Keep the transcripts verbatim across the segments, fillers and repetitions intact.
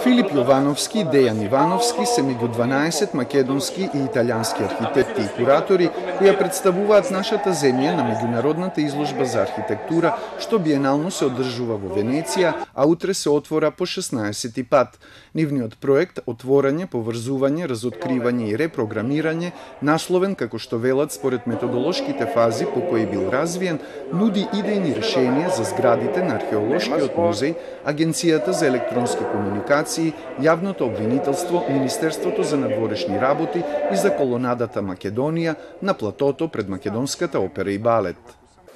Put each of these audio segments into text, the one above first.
Филип Јовановски и Дејан Ивановски се меѓу дванаесет македонски и италијански архитекти и куратори кои ја представуваат нашата земја на меѓународната изложба за архитектура што биенално се одржува во Венеција, а утре се отвора по шеснаесети пат. Нивниот проект Отворање, поврзување, разоткривање и репрограмирање, насловен како што велат според методолошките фази по кои бил развиен, нуди идејни решенија за зградите на археолошкиот музеј, Агенцијата за електронски комуникации, Јавното обвинителство, Министерството за надворешни работи и за колонадата Македонија на платото пред Македонската опера и балет.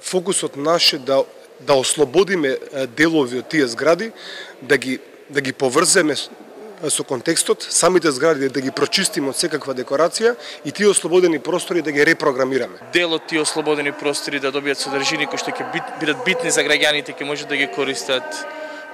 Фокусот наш е да да ослободиме делови од тие згради, да ги да ги поврземе со контекстот, самите згради да ги прочистиме од секаква декорација и тие ослободени простори да ги репрограмираме. Дел од тие ослободени простори да добијат содржини кои што ќе бидат битни за граѓаните, ќе може да ги користат.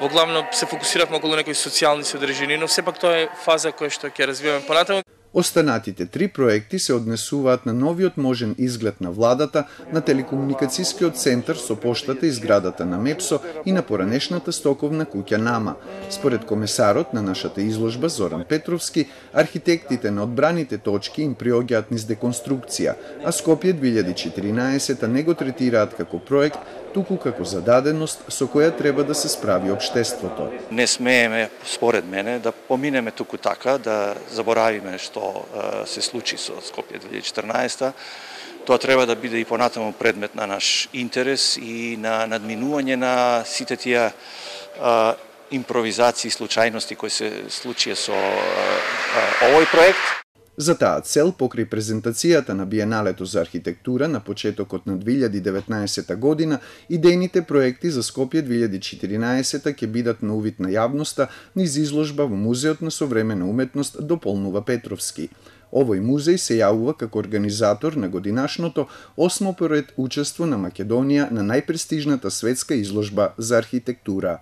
Во главно се фокусиравме околу некои социјални содржини, но сепак тоа е фаза која што ќе развиваме понатаму. Останатите три проекти се однесуваат на новиот можен изглед на владата, на телекомуникацијскиот центар со поштата и зградата на Мепсо и на поранешната стоковна куќа Нама. Според комесарот на нашата изложба Зоран Петровски, архитектите на одбраните точки им приоѓаат низ деконструкција, а Скопје две илјади и четиринаесета не го третираат како проект, туку како зададеност со која треба да се справи општеството. Не смееме, според мене, да поминеме туку така, да заборавиме што се случи со Скопје две илјади и четирнаесета. Тоа треба да биде и понатаму предмет на наш интерес и на надминување на сите тие а, импровизации, случајности кои се случија со а, овој проект. За таа цел, покрај презентацијата на Биеналето за архитектура на почетокот на две илјади и деветнаесета година, идејните проекти за Скопје две илјади и четиринаесета ќе бидат на увид на јавноста низ изложба во Музеот на современа уметност дополнува Петровски. Овој музеј се јавува како организатор на годинашното осмо поред учество на Македонија на најпрестижната светска изложба за архитектура.